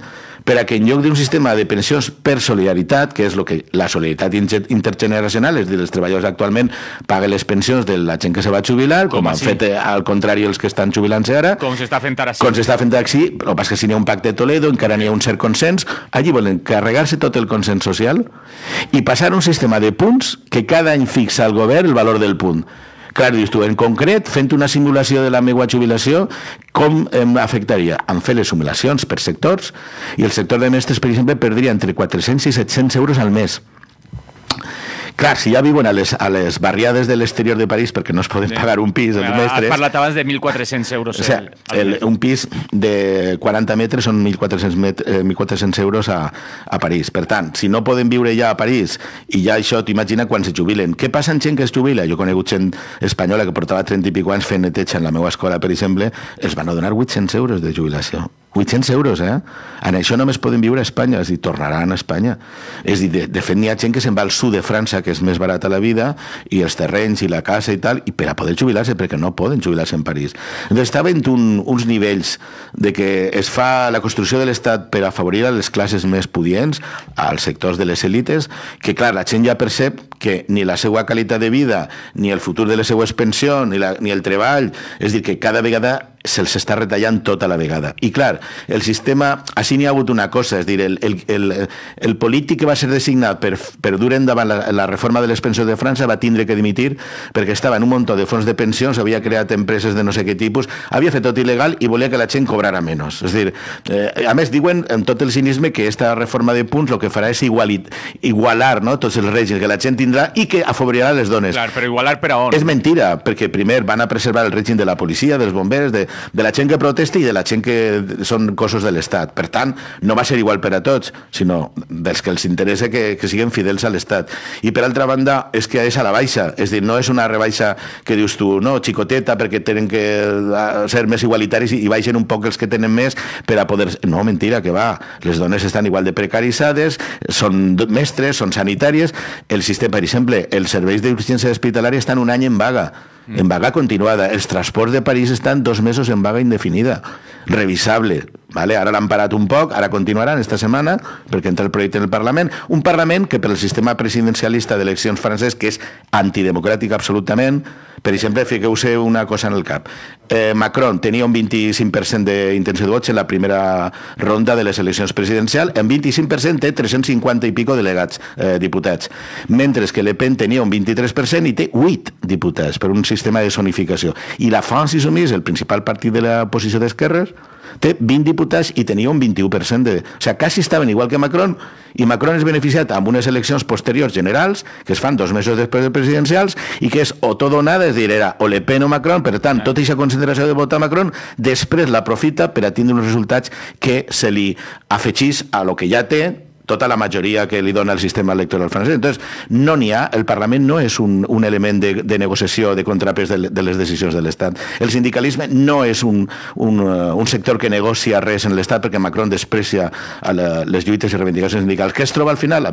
C: per a que en lloc d'un sistema de pensions per solidaritat, que és el que la solidaritat intergeneracional, és a dir, els treballadors actualment paguen les pensions de la gent que se va jubilar, com han fet al contrari els que estan jubilant-se ara.
B: Com s'està fent ara.
C: Com s'està fent així, el que passa és que si n'hi ha un pacte de Toledo, encara n'hi ha un cert consens, allí volen carregar-se tot el consens social i passar un sistema de punts que cada any fixa al govern el valor del punt. Clar, dius tu, en concret, fent una simulació de la meva jubilació, com em afectaria? En fer les simulacions per sectors, i el sector de mestres, per exemple, perdria entre 400 i 700 euros al mes. Clar, si ja viuen a les barriades de l'exterior de París perquè no es poden pagar un pis, els mestres...
B: Has parlat abans de 1.400 euros.
C: O sigui, un pis de 40 metres són 1.400 euros a París. Per tant, si no poden viure ja a París i ja això, t'imagina quan se jubilen. Què passa amb gent que es jubila? Jo he conegut gent espanyola que portava 30 i pico anys fent neteja en la meva escola, per exemple, els van donar 800 euros de jubilació. 800 euros, eh? En això només poden viure a Espanya, és a dir, tornaran a Espanya. És a dir, de fet, n'hi ha gent que se'n va al sud de França, que és més barata la vida, i els terrenys i la casa i tal, i per a poder jubilar-se, perquè no poden jubilar-se en París. Doncs està havent uns nivells de que es fa la construcció de l'Estat per afavorir a les classes més pudients, als sectors de les elites, que, clar, la gent ja percep que ni la seva qualitat de vida, ni el futur de les seues pensions, ni el treball, és a dir, que cada vegada se'ls està retallant tota la vegada. I clar, el sistema, així n'hi ha hagut una cosa, és a dir, el polític que va ser designat per dur endavant la reforma de les pensions de França va tindre que dimitir perquè estava en un munt de fons de pensions, havia creat empreses de no sé què tipus, havia fet tot il·legal i volia que la gent cobrara menys. És a dir, a més diuen amb tot el cinisme que aquesta reforma de punts el que farà és igualar, no, tots els règims que la gent tindrà i que afavorirà les dones.
B: Clar, però igualar per a on?
C: És mentira, perquè primer van a preservar el règim de la policia, dels bombers, de la gent que protesta i de la gent que són cossos de l'Estat. Per tant, no va ser igual per a tots, sinó dels que els interessa que siguin fidels a l'Estat. I per altra banda, és que és a la baixa, és dir, no és una rebaixa que dius tu, no, xicoteta, perquè tenen que ser més igualitaris i baixen un poc els que tenen més per a poder... No, mentira, que va. Les dones estan igual de precaritzades, són mestres, són sanitàries. El sistema, per exemple, els serveis d'urgència hospitalària estan un any en vaga continuada. Els transports de París estan 2 mesos en vaga indefinida. Revisable. Vale? Ara l'han parat un poc, ara continuaran esta setmana, perquè entra el projecte en el Parlament. Un Parlament que per el sistema presidencialista d'eleccions francès, que és antidemocràtic absolutament, per exemple, fiqueu-se una cosa en el cap. Macron tenia un 25% d'intenció de vots en la primera ronda de les eleccions presidencials, en 25% té 350 i pico delegats, diputats, mentre que Le Pen tenia un 23% i té 8 diputats per un sistema de zonificació. I la France Insoumise, el principal partit de l'oposició d'esquerres, té 20 diputats i tenia un 21% de... O sigui, quasi estaven igual que Macron, i Macron és beneficiat amb unes eleccions posteriors generals, que es fan 2 mesos després de presidencials, i que és o tot o nada, és a dir, era o Le Pen o Macron, per tant, tota aquesta concentració de vot a Macron, després l'aprofita per a tindre uns resultats que se li afegís a lo que ja té, tota la majoria que li dona el sistema electoral francès. Entonces, no n'hi ha, el Parlament no és un element de negociació, de contrapès de les decisions de l'Estat. El sindicalisme no és un sector que negocia res en l'Estat perquè Macron desprecia les lluites i reivindicacions sindicals. Què es troba al final? La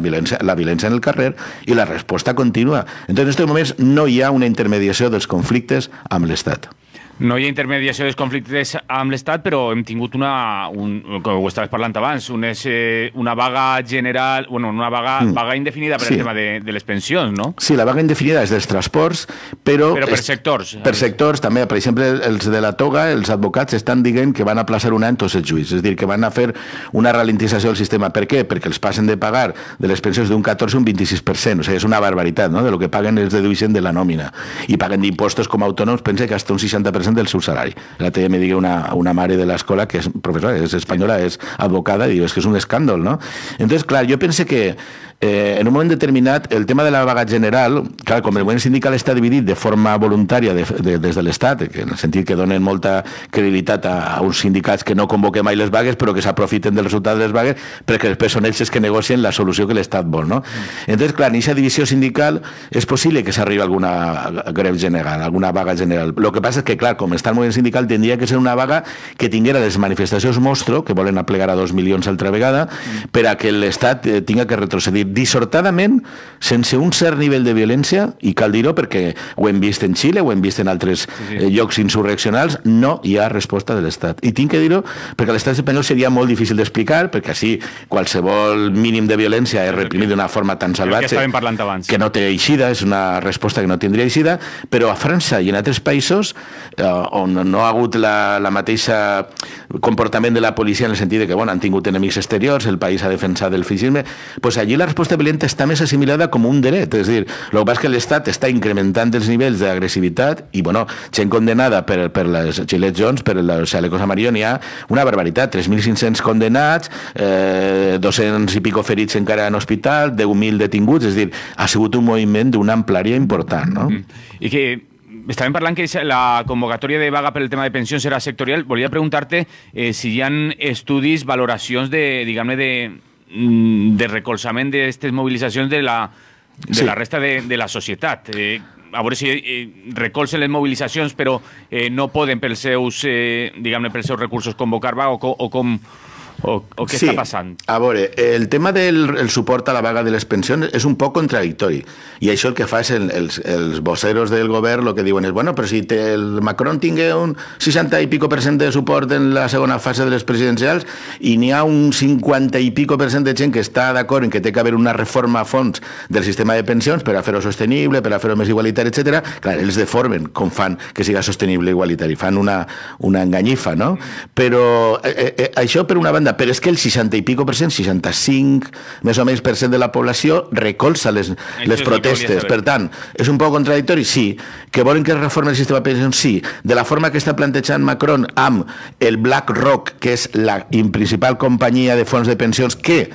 C: violència en el carrer i la resposta continua. Entonces, en aquests moments no hi ha una intermediació dels conflictes amb l'Estat.
B: No hi ha intermediació dels conflictes amb l'Estat, però hem tingut com ho estaves parlant abans, una vaga general, bueno, una vaga indefinida per el tema de les pensions, no?
C: Sí, la vaga indefinida és dels transports, però
B: per sectors.
C: Per sectors, també. Per exemple, els de la toga, els advocats estan dient que van a aplaçar un any tots els judicis, és a dir, que van a fer una ralentització del sistema. Per què? Perquè els passen de pagar de les pensions d'un 14 a un 26%, o sigui, és una barbaritat, no? De lo que paguen els dedueixen de la nòmina. I paguen d'impostos com a autònoms, pense que hasta un 60% del seu salari. L'altre dia me digui una mare de l'escola que és professora, és espanyola, és advocada, i diu, és que és un escàndol, no? Entonces, clar, jo pense que en un moment determinat el tema de la vaga general, clar, com el moviment sindical està dividit de forma voluntària des de l'Estat, en el sentit que donen molta credibilitat a uns sindicats que no convoquen mai les vagues però que s'aprofiten del resultat de les vagues perquè després són ells que negocien la solució que l'Estat vol, no? Entonces, clar, en aquesta divisió sindical és possible que s'arribi a alguna greu general, alguna vaga general. Lo que passa és que, clar, com està el moviment sindical, tindria que ser una vaga que tinguera les manifestacions monstro, que volen aplegar a 2 milions altra vegada, per a que l'Estat tinga que retrocedir dir, dissortadament, sense un cert nivell de violència, i cal dir-ho perquè ho hem vist en Xile, ho hem vist en altres llocs insurreccionals, no hi ha resposta de l'Estat. I tinc que dir-ho perquè a l'Estat espanyol seria molt difícil d'explicar, perquè així qualsevol mínim de violència és reprimit d'una forma tan salvatge que no té eixida, és una resposta que no tindria eixida, però a França i en altres països on no ha hagut la mateixa comportament de la policia en el sentit de que han tingut enemics exteriors, el país ha defensat el feixisme, doncs allí la resposta violenta està més assimilada com un dret, és a dir, el que passa és que l'Estat està incrementant els nivells d'agressivitat i, gent condenada per les Gillette Jones, per els chalecos amarillos, n'hi ha una barbaritat, 3.500 condenats, 200 i pico ferits encara en hospital, 10.000 detinguts, és a dir, ha sigut un moviment d'una amplària important, no?
B: I que estàvem parlant que la convocatòria de vaga per el tema de pensions serà sectorial. Volia preguntar-te si hi ha estudis, valoracions de recolzament d'aquestes mobilitzacions de la resta de la societat. A veure si recolzen les mobilitzacions però no poden pels seus recursos convocar vaga o què està passant?
C: A veure, el tema del suport a la vaga de les pensions és un poc contradictori i això el que fa és els voceros del govern el que diuen és, però si el Macron tingui un 60 i pico % de suport en la segona fase de les presidencials i n'hi ha un 50 i pico % de gent que està d'acord en que té que haver una reforma a fons del sistema de pensions per a fer-ho sostenible, per a fer-ho més igualitari, etc. Clar, ells deformen com fan que siga sostenible i igualitari, fan una enganyifa, no? Però això per una banda, però és que el 60 i pico %, 65 més o menys % de la població recolza les protestes. Per tant, és un poc contradictori? Sí. Que volen que es reformi el sistema de pensions? Sí. De la forma que està plantejant Macron amb el BlackRock, que és la principal companyia de fons de pensions que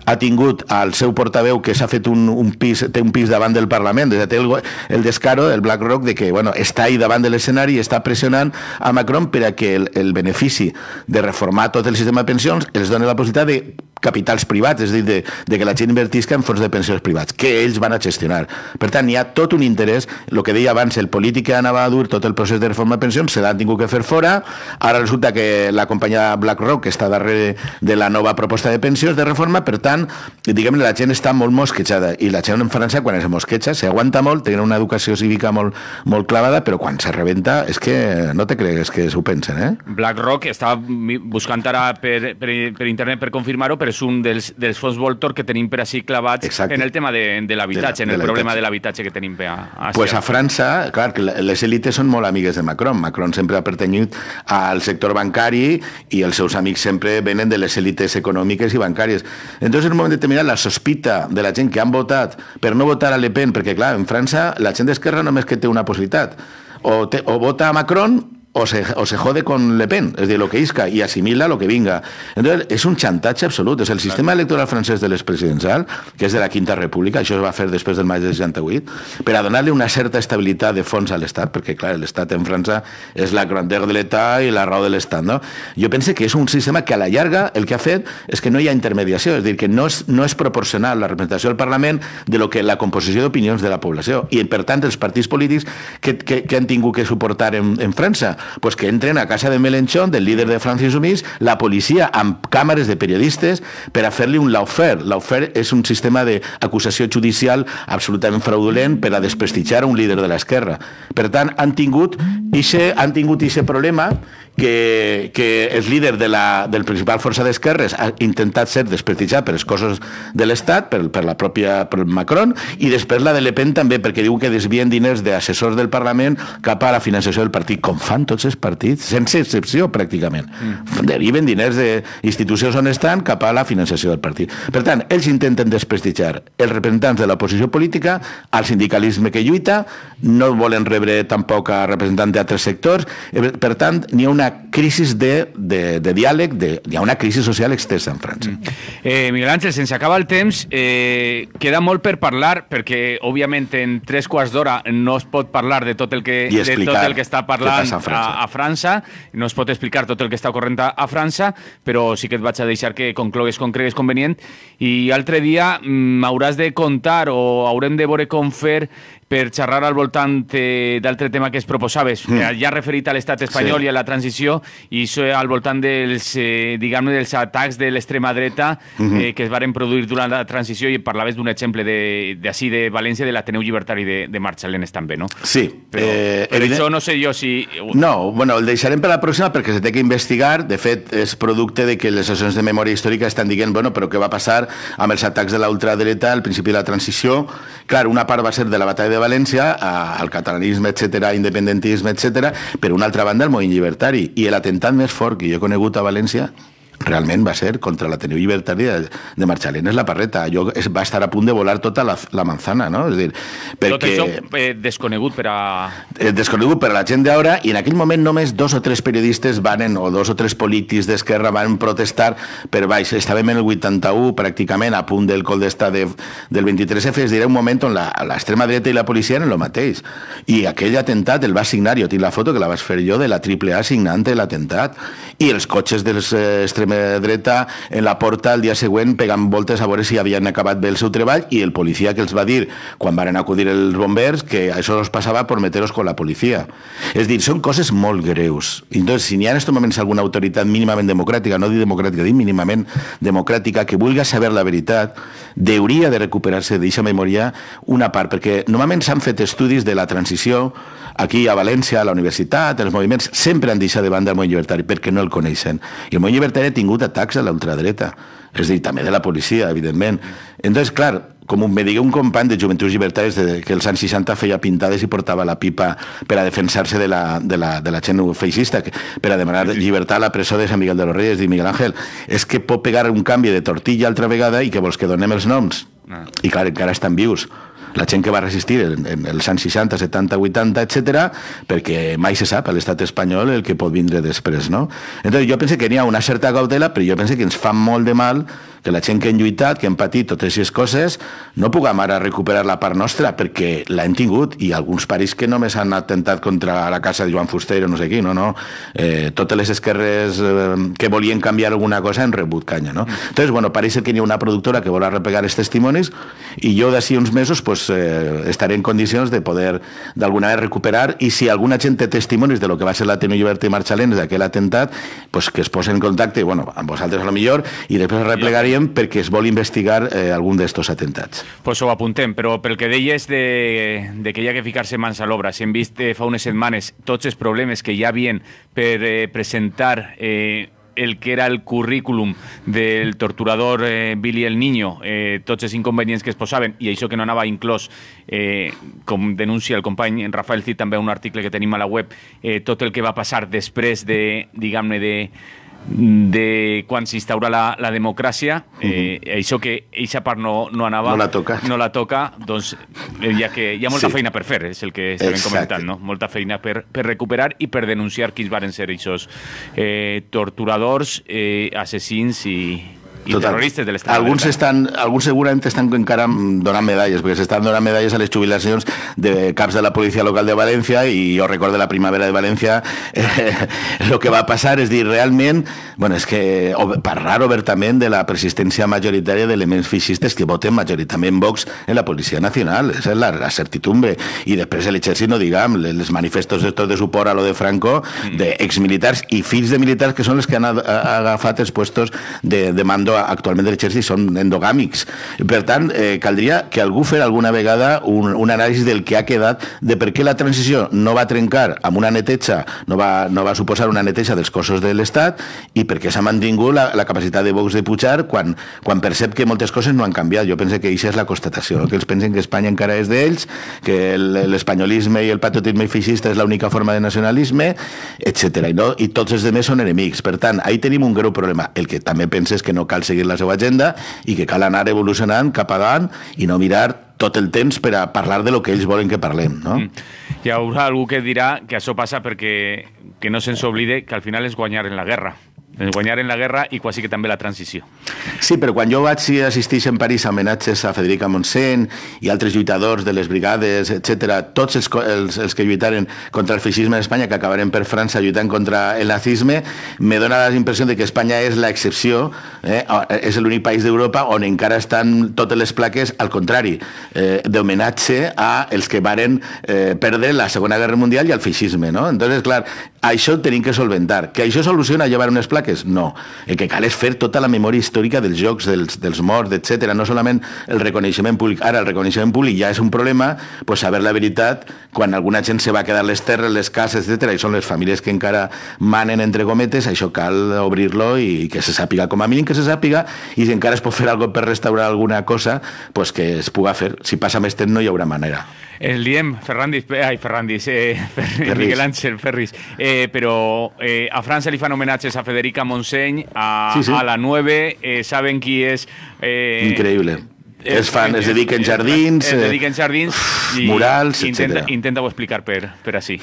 C: ha tingut al seu portaveu que s'ha fet té un pis davant del Parlament, té el descaro del BlackRock de que està ahí davant de l'escenari i està pressionant a Macron per a que el benefici de reformar tot el sistema de pensions els doni la possibilitat de capitals privats, és a dir, de que la gent invertisca en fons de pensions privats, que ells van a gestionar. Per tant, hi ha tot un interès, el que deia abans, el polític que anava a dur tot el procés de reforma de pensions, se l'han tingut que fer fora, ara resulta que la companyia BlackRock està darrere de la nova proposta de pensions de reforma, per tant, diguem-ne, la gent està molt mosquejada, i la gent en França, quan es mosqueja, s'aguanta molt, tenen una educació cívica molt clavada, però quan se rebenta, és que no te cregues que s'ho pensen, eh?
B: BlackRock està buscant ara per internet per confirmar-ho, però és un dels fons voltor que tenim per així clavats en el tema de l'habitatge, en el problema de l'habitatge que tenim a
C: Pues a França, clar, que les élites són molt amigues de Macron. Macron sempre ha pertanyut al sector bancari i els seus amics sempre venen de les élites econòmiques i bancàries. Entonces, en un moment determinat, la sospita de la gent que han votat per no votar a Le Pen, perquè, clar, en França la gent d'esquerra només que té una possibilitat, o vota a Macron o se jode con Le Pen, es decir, lo que isca y asimila lo que venga. Entonces, es un chantatge absolut. És el sistema electoral francès de l'expresidencial, que és de la Quinta República, això es va fer després del maig del 68, per a donar-li una certa estabilitat de fons a l'Estat, perquè, clar, l'Estat en França és la grandeur de l'Estat i la raó de l'Estat, no? Jo penso que és un sistema que a la llarga el que ha fet és que no hi ha intermediació, és a dir, que no és proporcional la representació del Parlament de lo que la composició d'opinions de la població. I, per tant, els partits polítics que han tingut que suportar en França, pues que entren a casa de Mélenchon, del líder de France Insoumise, la policia amb càmeres de periodistes per a fer-li un lawfare. Lawfare és un sistema d'acusació judicial absolutament fraudulent per a desprestigiar un líder de l'esquerra. Per tant, han tingut aquest problema que el líder del principal força d'esquerres ha intentat ser desprestigiat per els cossos de l'Estat, per Macron, i després la de Le Pen també, perquè diu que desvien diners d'assessors del Parlament cap a la financiació del partit, com fan tots els partits, sense excepció, pràcticament. Deriven diners d'institucions on estan cap a la financiació del partit. Per tant, ells intenten desprestigiar els representants de l'oposició política, al sindicalisme que lluita, no volen rebre tampoc a representants d'altres sectors, per tant, n'hi ha una crisi de diàleg, hi ha una crisi social extensa en França.
B: Miguel Ángel, sense acabar el temps, queda molt per parlar, perquè, òbviament, en 3 quarts d'hora no es pot parlar de tot el que està parlant a França, no es pot explicar tot el que està ocorrent a França, però sí que et vaig a deixar que conclogues com cregues convenient, i altre dia m'hauràs de contar o haurem de veure com fer per xerrar al voltant d'altre tema que es proposaves, ja referit a l'estat espanyol i a la transició transició, i això al voltant dels, diguem-ne, dels atacs de l'extrema dreta que es varen produir durant la transició, i parlaves d'un exemple d'ací de València, de l'Ateneu Llibertari de Marxalenes també, no?
C: Sí.
B: Però això no sé jo si...
C: No, bueno, el deixarem per la pròxima perquè se té que investigar. De fet, és producte de que les associacions de memòria històrica estan dient, bueno, però què va passar amb els atacs de la ultradreta al principi de la transició? Clar, una part va ser de la batalla de València, al catalanisme, etc., independentisme, etc., però una altra banda el moviment llibertari. I l'atemptat més fort que jo he conegut a València realment va ser contra l'Ateneu Llibertari de Marxalenes la Parreta. Allò va estar a punt de volar tota la manzana, no? És dir, perquè...
B: Tot això desconegut per a...
C: Desconegut per a la gent d'ara, i en aquell moment només 2 o 3 periodistes varen, o 2 o 3 polítics d'esquerra van protestar per baix. Estàvem en el 81, pràcticament, a punt del col d'estat del 23F, és dir, un moment on l'extrema dreta i la policia eren el mateix. I aquell atemptat el va signar, jo tinc la foto que la vaig fer jo, de la AAA signant l'atemptat, i els cotxes dels extrema dreta en la porta el dia següent pegant voltes a veure si havien acabat bé el seu treball, i el policia que els va dir quan van acudir els bombers que això els passava per meteros con la policia. És dir, són coses molt greus. Entonces, si n'hi ha en estos moments alguna autoritat mínimament democràtica, no dic democràtica, dic mínimament democràtica, que vulgui saber la veritat, hauria de recuperar-se d'aquesta memòria una part, perquè normalment s'han fet estudis de la transició aquí a València, a la universitat, els moviments sempre han deixat de banda el moviment llibertari perquè no el coneixen. I el moviment llibertari ha tingut atacs a la ultradreta, és a dir, també de la policia, evidentment. Entonces, clar, com me digué un company de Joventuts Llibertaris que els anys 60 feia pintades i portava la pipa per a defensar-se de la gent feixista, per a demanar llibertat a la presó de Sant Miguel de los Reyes, diu Miguel Ángel, és que pot pegar un canvi de tortilla altra vegada i que vols que donem els noms. I clar, encara estan vius. La gent que va resistir en els anys 60, 70, 80, etc., perquè mai se sap a l'estat espanyol el que pot vindre després, no? Entonces, jo penso que n'hi ha una certa cautela, però jo penso que ens fa molt de mal que la gent que hem lluitat, que hem patit totes aquestes coses, no puguem ara recuperar la part nostra, perquè l'hem tingut, i alguns paris que només han atemptat contra la casa de Joan Fuster o no sé qui, no. Totes les esquerres que volien canviar alguna cosa han rebut canya, no? Entonces, bueno, pareix que n'hi ha una productora que vol arrepegar els testimonis, i jo d'ací uns mesos pues, estaré en condicions de poder d'alguna vegada recuperar, i si alguna gent té testimonis de lo que va ser l'Ateneu Llibertari Marxalenes d'aquell atemptat, pues que es posen en contacte, bueno, amb vosaltres a lo millor, i després replegaríem perquè es vol investigar algun d'estos atemptats.
B: Pues ho apuntem, però pel que deies de que hi ha que ficar-se mans a l'obra, si hem vist fa unes setmanes tots els problemes que hi havien per presentar el que era el currículum del torturador Billy el Niño, tots els inconvenients que es posaven, i això que no anava inclòs, com denuncia el company Rafael Cid, també un article que tenim a la web, tot el que va passar després de, diguem-ne, de quan s'instaura la democràcia, això que eixa part no anava, no la toca, doncs hi ha molta feina per fer, és el que estem comentant, no? Molta feina per recuperar i per denunciar quins varen ser aquests torturadors, assassins i terroristes de l'estat.
C: Alguns segurament estan encara donant medalles, perquè s'estan donant medalles a les jubilacions de caps de la policia local de València, i jo recordo la primavera de València, el que va passar, és dir, realment, bueno, és que parlar obertament de la persistència majoritària d'elements feixistes que voten majoritàriament Vox en la Policia Nacional, és la certidumbre, i després l'exèrcit, no diguem, els manifestos de suport a lo de Franco, d'exmilitars i fills de militars que són els que han agafat els puestos de mando actualment de l'exèrcit, són endogàmics. Per tant, caldria que algú fes alguna vegada un anàlisi del que ha quedat, de per què la transició no va trencar amb una neteja, no va suposar una neteja dels cossos de l'Estat, i per què s'ha mantingut la capacitat de Vox de pujar quan percep que moltes coses no han canviat. Jo penso que això és la constatació, que ells pensen que Espanya encara és d'ells, que l'espanyolisme i el patriotisme feixista és l'única forma de nacionalisme, etc. I tots els altres són enemics. Per tant, ahí tenim un greu problema. El que també penso és que no cal seguir la seva agenda i que cal anar evolucionant cap avant i no mirar tot el temps per a parlar de lo que ells volen que parlem, no?
B: Hi haurà algú que dirà que això passa perquè que no se'ns oblide que al final és guanyar en la guerra. Guanyar en la guerra i quasi que també la transició.
C: Sí, però quan jo vaig assistir en París a homenatges a Federica Montseny i altres lluitadors de les brigades, etc., tots els que lluitaren contra el feixisme en Espanya, que acabaren per França lluitant contra el nazisme, me dona la impressió de que Espanya és l'excepció, és l'únic país d'Europa on encara estan totes les plaques, al contrari, d'homenatge a els que varen perdre la Segona Guerra Mundial i al feixisme, no? Entonces, clar, Això ho tenim que solventar. Que això soluciona llevar unes plaques? No. El que cal és fer tota la memòria històrica dels jocs, dels morts, etc. No solament el reconeixement públic. Ara, el reconeixement públic ja és un problema, pues saber la veritat, quan alguna gent se va quedar les terres, les cases, etc. I són les famílies que encara manen, entre cometes, això cal obrir-lo i que se sàpiga, com a mínim que se sàpiga, i si encara es pot fer alguna cosa per restaurar alguna cosa, pues que es puga fer. Si passa més temps no hi haurà manera.
B: El diem, Miguel Ángel Ferris, però a França li fan homenatges a Federica Montseny, a la 9, saben qui és...
C: Increïble. Es dediquen jardins, murals, etc.
B: Intenta-ho explicar per així.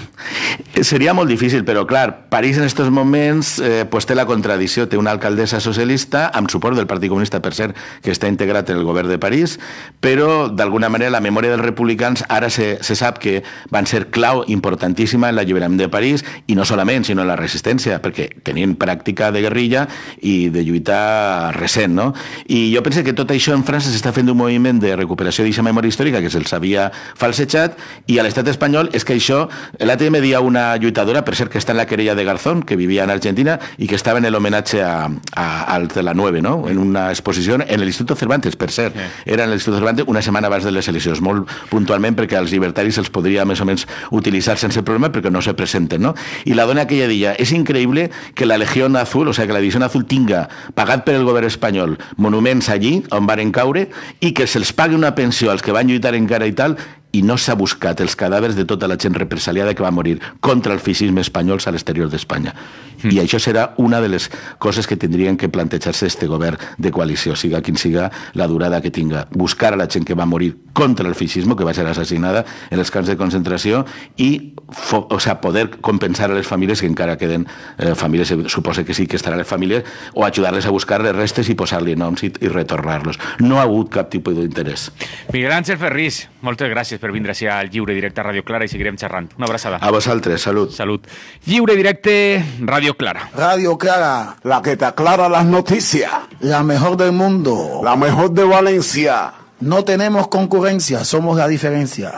C: Seria molt difícil, però clar, París en aquests moments pues té la contradicció, té una alcaldessa socialista amb suport del Partit Comunista, per cert, que està integrat en el govern de París, però d'alguna manera la memòria dels republicans ara se sap que van ser clau importantíssima en l'alliberament de París, i no solament, sinó en la resistència, perquè tenien pràctica de guerrilla i de lluita recent, no? I jo penso que tot això en França s'està fent un moviment de recuperació d'aquesta memòria històrica que se'ls havia falsejat, i a l'estat espanyol és que això, l'altre dia me dia una lluitadora, per cert que està en la querella de Garzón, que vivia en Argentina i que estava en l'homenatge al de la 9, no? En una exposició en l'Instituto Cervantes, per cert, era en l'Instituto Cervantes una setmana abans de les eleccions, molt puntualment perquè als llibertaris els podria més o menys utilitzar sense problema perquè no se presenten, no? I la dona aquella dia, és increïble que la Legión Azul, o sigui, que la Divisió Azul tinga pagat per el govern espanyol monuments allí on varen caure i que se'ls pagui una pensió als que van lluitar encara i tal, i no s'ha buscat els cadàvers de tota la gent represaliada que va morir contra el feixisme espanyol a l'exterior d'Espanya. I això serà una de les coses que tindrien que plantejar-se este govern de coalició, siga quin siga la durada que tinga. Buscar a la gent que va morir contra el feixisme, que va ser assassinada en els camps de concentració, i poder compensar a les famílies que encara queden famílies, suposa que sí que estaran les famílies, o ajudar-les a buscar les restes i posar-li noms i retornar-los. No ha hagut cap tipus d'interès.
B: Miguel Ángel Ferris, moltes gràcies per vindre així al Lliure Directe a Ràdio Clara i seguirem xerrant. Una abraçada.
C: A vosaltres, salut.
B: Salut. Lliure Directe, Ràdio Clara.
D: Radio Clara, la que te aclara las noticias. La mejor del mundo. La mejor de Valencia. No tenemos concurrencia, somos la diferencia.